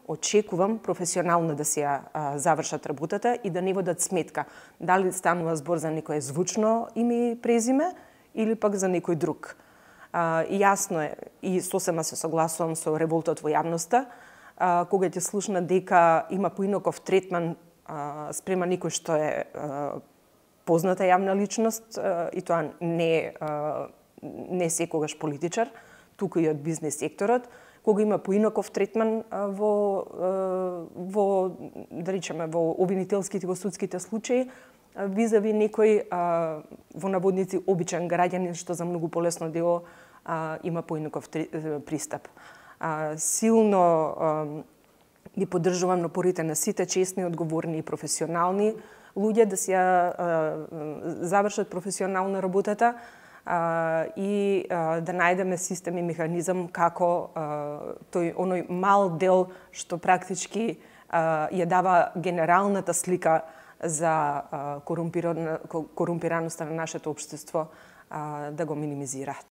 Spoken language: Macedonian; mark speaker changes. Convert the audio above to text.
Speaker 1: очекувам професионално да си ја завршат работата и да не водат сметка дали станува збор за некое звучно име и презиме или пак за некој друг. Јасно е и сосема се согласувам со револтот во јавноста, кога ќе слушна дека има поинаков третман спрема некој што е позната јавна личност и тоа не секогаш политичар, туку и од бизнес секторот, кога има поинаков третман во да речеме во обвинителските и во судските случаи визави некој во наводници обичен граѓанин што за многу полесно дело има поинаков пристап. Силно ги поддржувам напорите на сите честни, одговорни и професионални луѓе да си завршат професионално работата и да најдеме систем и механизам како оној мал дел што практички ја дава генералната слика за корумпираноста на нашето општество да го минимизираат.